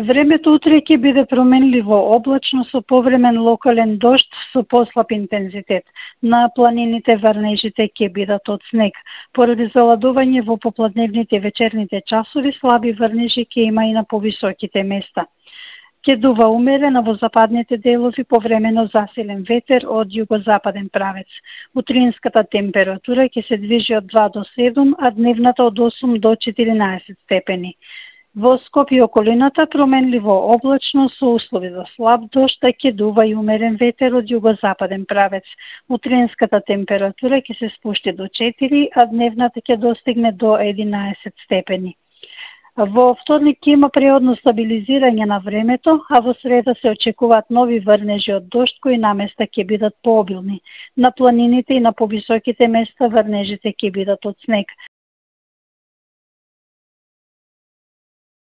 Времето утре ќе биде променливо облачно со повремен локален дожд со послаб интензитет. На планините врнежите ќе бидат од снег. Поради заладување во попладневните и вечерните часови, слаби врнежи ќе има и на повисоките места. Ќе дува умерено во западните делови повремено засилен ветер од југозападен правец. Утринската температура ќе се движи од 2 до 7, а дневната од 8 до 14 степени. Во Скопје и околината променливо облачно со услови за слаб дожд, ќе дува и умерен ветер од југозападен правец. Утринската температура ќе се спушти до 4, а дневната ќе достигне до 11 степени. Во вторник ќе има преодно стабилизирање на времето, а во среда се очекуваат нови врнежи од дожд кои наместа ќе бидат пообилни. На планините и на повисоките места врнежите ќе бидат од снег.